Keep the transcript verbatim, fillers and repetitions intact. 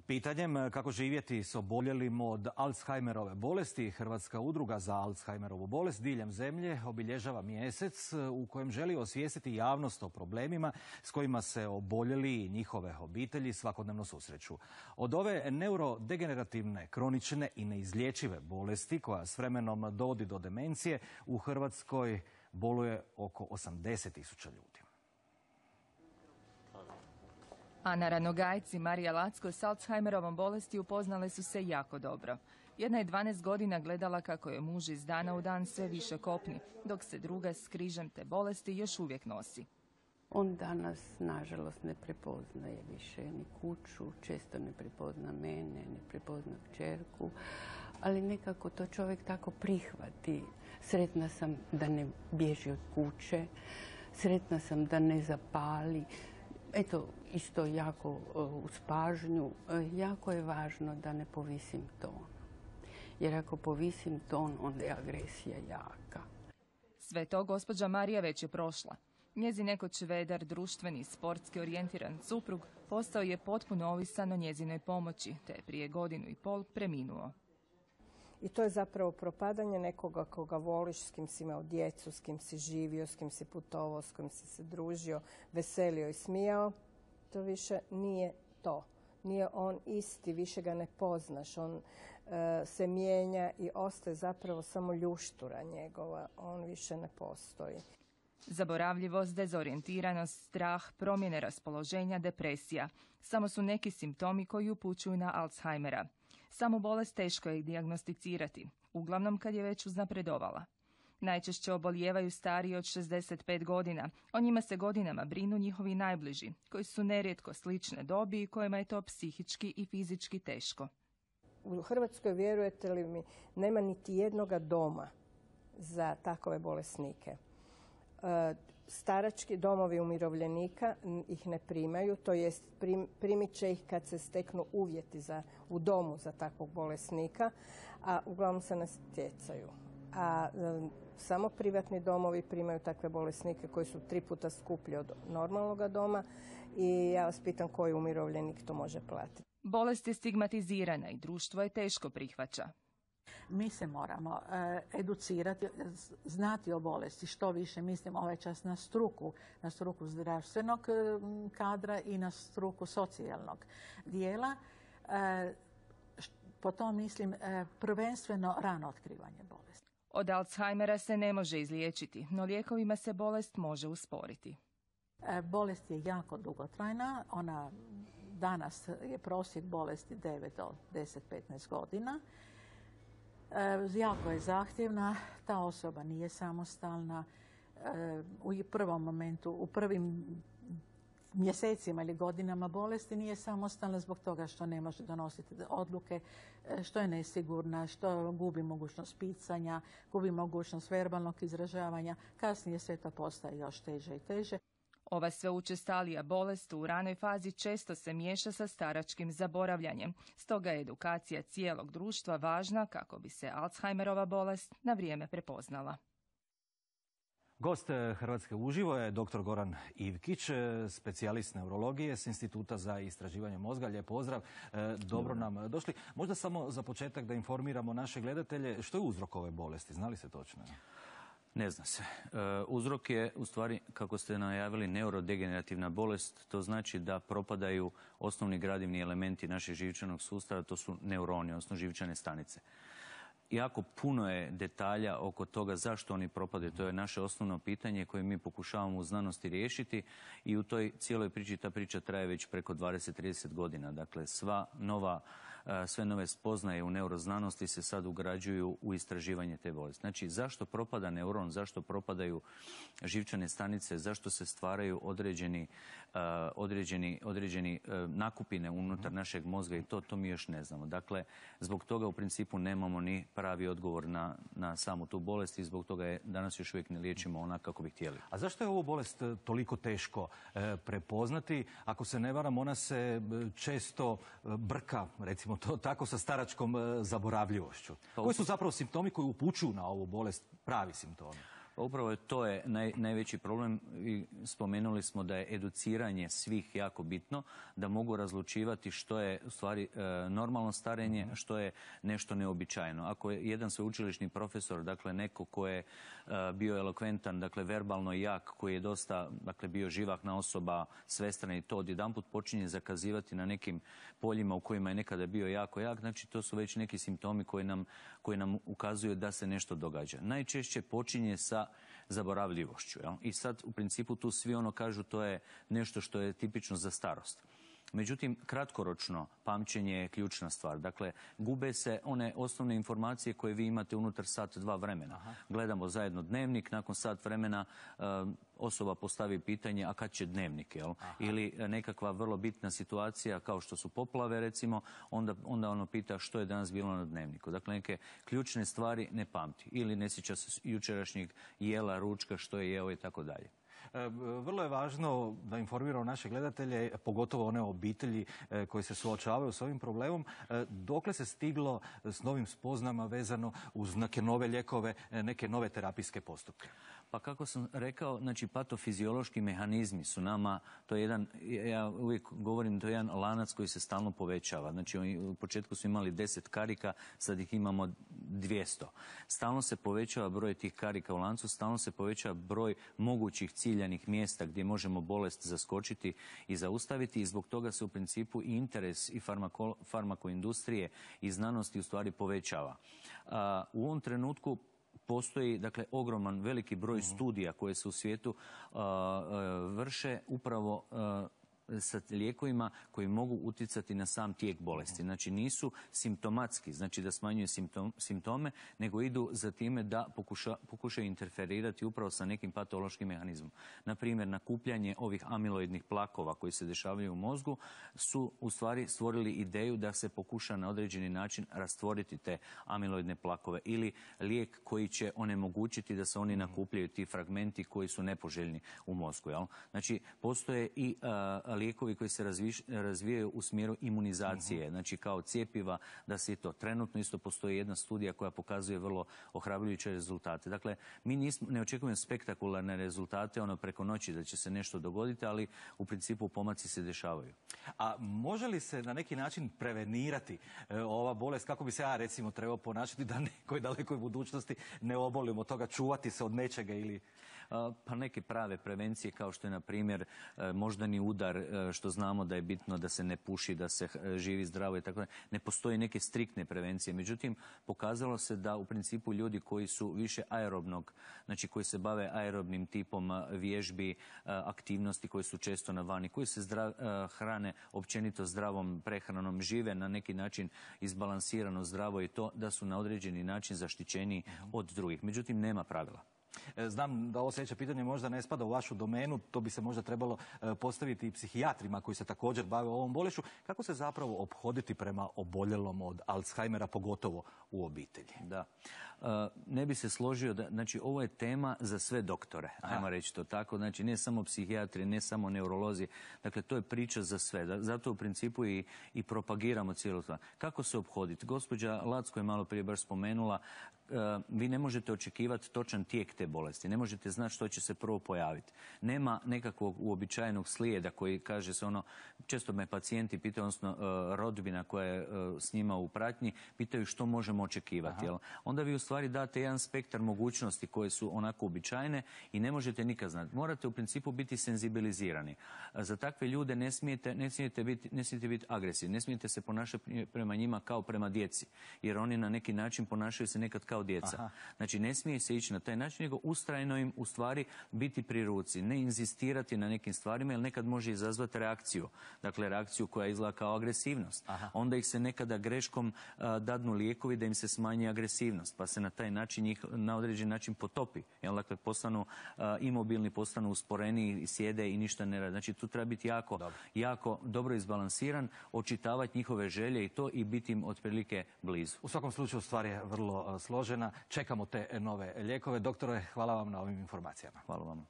Pitanjem kako živjeti s oboljelim od Alzheimerove bolesti, Hrvatska udruga za Alzheimerovu bolest diljem zemlje obilježava mjesec u kojem želi osvijestiti javnost o problemima s kojima se oboljeli i njihove obitelji svakodnevno susreću. Od ove neurodegenerativne, kronične i neizlječive bolesti koja s vremenom dovodi do demencije u Hrvatskoj boluje oko osamdeset tisuća ljudi. Ana Ranogajec i Marija Lacko s Alzheimerovom bolesti upoznale su se jako dobro. Jedna je dvanaest godina gledala kako je muž iz dana u dan sve više kopni, dok se druga s križem te bolesti još uvijek nosi. On danas, nažalost, ne prepoznaje više ni kuću, često ne prepozna mene, ne prepozna kćerku, ali nekako to čovjek tako prihvati. Sretna sam da ne bježi od kuće, sretna sam da ne zapali. Eto, isto jako uz pažnju, jako je važno da ne povisim ton. Jer ako povisim ton, onda je agresija jaka. Sve to gospođa Marija već je prošla. Njezin nekoć vedar, društveni, sportski orijentiran suprug postao je potpuno ovisan o njezinoj pomoći, te je prije godinu i pol preminuo. I to je zapravo propadanje nekoga koga voliš, s kim si imao djecu, s kim si živio, s kim si putovao, s kim si se družio, veselio i smijao. To više nije to. Nije on isti, više ga ne poznaš. On uh, se mijenja i ostaje zapravo samo ljuštura njegova. On više ne postoji. Zaboravljivost, dezorijentiranost, strah, promjene raspoloženja, depresija. Samo su neki simptomi koji upućuju na Alzheimera. Samu bolest teško je dijagnosticirati, uglavnom kad je već uznapredovala. Najčešće obolijevaju stariji od šezdeset pet godina. O njima se godinama brinu njihovi najbliži, koji su nerijetko slične dobi i kojima je to psihički i fizički teško. U Hrvatskoj, vjerujete li mi, nema niti jednoga doma za takove bolesnike. Starački domovi umirovljenika ih ne primaju, to jest prim, primit će ih kad se steknu uvjeti za, u domu za takvog bolesnika, a uglavnom se ne stjecaju. A e, samo privatni domovi primaju takve bolesnike koji su tri puta skuplji od normalnoga doma i ja vas pitam koji umirovljenik to može platiti. Bolest je stigmatizirana i društvo je teško prihvaća. Mi se moramo e, educirati, znati o bolesti što više, mislim ovaj čas na struku, na struku zdravstvenog kadra i na struku socijalnog dijela. E, po tom mislim e, prvenstveno rano otkrivanje bolesti. Od Alzheimera se ne može izliječiti, no lijekovima se bolest može usporiti. E, bolest je jako dugotrajna, ona danas je prosjek bolesti devet do deset do petnaest godina. E, jako je zahtjevna, ta osoba nije samostalna. E, u prvom momentu, u prvim mjesecima ili godinama bolesti nije samostalna zbog toga što ne može donositi odluke, što je nesigurna, što gubi mogućnost pisanja, gubi mogućnost verbalnog izražavanja. Kasnije sve to postaje još teže i teže. Ova sve učestalija bolest u ranoj fazi često se miješa sa staračkim zaboravljanjem. Stoga je edukacija cijelog društva važna kako bi se Alzheimerova bolest na vrijeme prepoznala. Gost Hrvatske uživo je doktor Goran Ivkić, specijalist neurologije s Instituta za istraživanje mozga. Lijep pozdrav, dobro nam došli. Možda samo za početak da informiramo naše gledatelje što je uzrok ove bolesti, zna li se točno? Ne zna se. E, uzrok je, u stvari, kako ste najavili, neurodegenerativna bolest. To znači da propadaju osnovni gradivni elementi našeg živčanog sustava, to su neuroni, odnosno živčane stanice. Jako puno je detalja oko toga zašto oni propadaju. To je naše osnovno pitanje koje mi pokušavamo u znanosti riješiti i u toj cijeloj priči, ta priča traje već preko dvadeset do trideset godina. Dakle, sva nova, sve nove spoznaje u neuroznanosti se sad ugrađuju u istraživanje te bolesti. Znači, zašto propada neuron, zašto propadaju živčane stanice, zašto se stvaraju određeni, određeni, određeni nakupine unutar našeg mozga i to, to mi još ne znamo. Dakle, zbog toga u principu nemamo ni pravi odgovor na, na samu tu bolest i zbog toga je danas još uvijek ne liječimo onak kako bi htjeli. A zašto je ovu bolest toliko teško e, prepoznati? Ako se ne varam, ona se često brka, recimo to tako, sa staračkom zaboravljivošću. Koji su zapravo simptomi koji upućuju na ovu bolest, pravi simptomi? Upravo to je naj, najveći problem i spomenuli smo da je educiranje svih jako bitno, da mogu razlučivati što je u stvari e, normalno starenje, a što je nešto neobičajeno. Ako je jedan sveučilišni profesor, dakle neko ko je e, bio elokventan, dakle verbalno jak, koji je dosta, dakle bio živahna osoba, svestran i to odjedanput počinje zakazivati na nekim poljima u kojima je nekada bio jako jak, znači to su već neki simptomi koji nam, koji nam ukazuju da se nešto događa. Najčešće počinje sa zaboravljivošću. Jel? I sad u principu tu svi ono kažu to je nešto što je tipično za starost. Međutim, kratkoročno pamćenje je ključna stvar. Dakle, gube se one osnovne informacije koje vi imate unutar sat, dva vremena. Aha. Gledamo zajedno dnevnik, nakon sat vremena e, osoba postavi pitanje, a kad će dnevnik, jel? Ili nekakva vrlo bitna situacija kao što su poplave, recimo, onda, onda ono pita što je danas bilo na dnevniku. Dakle, neke ključne stvari ne pamti. Ili ne sjeća se jučerašnjeg jela, ručka, što je jeo i tako dalje. Vrlo je važno da informiramo naše gledatelje, pogotovo one obitelji koji se suočavaju s ovim problemom. Dokle se stiglo s novim spoznama vezano uz neke nove lijekove, neke nove terapijske postupke? Pa kako sam rekao, znači patofiziološki mehanizmi su nama, to je jedan, ja uvijek govorim, to je jedan lanac koji se stalno povećava. Znači u početku su imali deset karika, sad ih imamo dvjesto. Stalno se povećava broj tih karika u lancu, stalno se povećava broj mogućih ciljanih mjesta gdje možemo bolest zaskočiti i zaustaviti i zbog toga se u principu i interes i farmako, farmakoindustrije i znanosti u stvari povećava. A, u ovom trenutku postoji, dakle, ogroman, veliki broj studija koje se u svijetu uh, uh, vrše upravo uh, sa lijekovima koji mogu utjecati na sam tijek bolesti. Znači nisu simptomatski, znači da smanjuju simptom, simptome, nego idu za time da pokuša, pokušaju interferirati upravo sa nekim patološkim mehanizmom. Naprimjer, nakupljanje ovih amiloidnih plakova koji se dešavaju u mozgu su u stvari stvorili ideju da se pokuša na određeni način rastvoriti te amiloidne plakove ili lijek koji će onemogućiti da se oni nakupljaju, ti fragmenti koji su nepoželjni u mozgu. Jel? Znači, postoje i uh, lijekovi koji se razviš, razvijaju u smjeru imunizacije, uh-huh. znači kao cjepiva, da se i to. Trenutno isto postoji jedna studija koja pokazuje vrlo ohrabrujuće rezultate. Dakle, mi nismo, ne očekujemo spektakularne rezultate ono preko noći da će se nešto dogoditi, ali u principu pomaci se dešavaju. A može li se na neki način prevenirati e, ova bolest, kako bi se ja recimo trebao ponašati da nekoj dalekoj budućnosti ne obolimo od toga, čuvati se od nečega ili... Pa neke prave prevencije kao što je na primjer moždani udar, što znamo da je bitno da se ne puši, da se živi zdravo i tako. Ne postoje neke striktne prevencije. Međutim, pokazalo se da u principu ljudi koji su više aerobnog, znači koji se bave aerobnim tipom vježbi, aktivnosti koji su često na vani, koji se zdrav, hrane općenito zdravom prehranom, žive na neki način izbalansirano zdravo i to da su na određeni način zaštićeni od drugih. Međutim, nema pravila. Znam da ovo sljedeće pitanje možda ne spada u vašu domenu, to bi se možda trebalo postaviti i psihijatrima koji se također bave ovom bolešću. Kako se zapravo ophoditi prema oboljelom od Alzheimera, pogotovo u obitelji? Da. Ne bi se složio da, znači ovo je tema za sve doktore, ajmo reći to tako, znači ne samo psihijatri, ne samo neurolozi, dakle to je priča za sve, zato u principu i, i propagiramo cijelu stvar. Kako se ophoditi? Gospođa Lacko je malo prije baš spomenula, vi ne možete očekivati točan tijek te bolesti, ne možete znati što će se prvo pojaviti. Nema nekakvog uobičajenog slijeda koji kaže se ono, često me pacijenti pitaju, odnosno rodbina koja je s njima u pratnji, pitaju što možemo očekivati. Jel? Onda vi u stvari date jedan spektar mogućnosti koje su onako uobičajene i ne možete nikad znati. Morate u principu biti senzibilizirani. Za takve ljude ne smijete, ne smijete biti, ne smijete biti agresivni, ne smijete se ponašati prema njima kao prema djeci, jer oni na neki način ponašaju se nekad kao djeca. Aha. Znači ne smije se ići na taj način, nego ustrajno im u stvari biti pri ruci, ne inzistirati na nekim stvarima, jer nekad može izazvati reakciju. Dakle, reakciju koja izgleda kao agresivnost. Aha. Onda ih se nekada greškom a, dadnu lijekovi da im se smanji agresivnost, pa se na taj način njih na određen način potopi. Jel, dakle, postanu a, imobilni, postanu usporeni, sjede i ništa ne rade. Znači tu treba biti jako dobro, jako dobro izbalansiran, očitavati njihove želje i to i biti im otprilike blizu. U svakom slučaju stvar je vrlo složena. Čekamo te nove lijekove. Doktore, hvala vam na ovim informacijama. Hvala vam.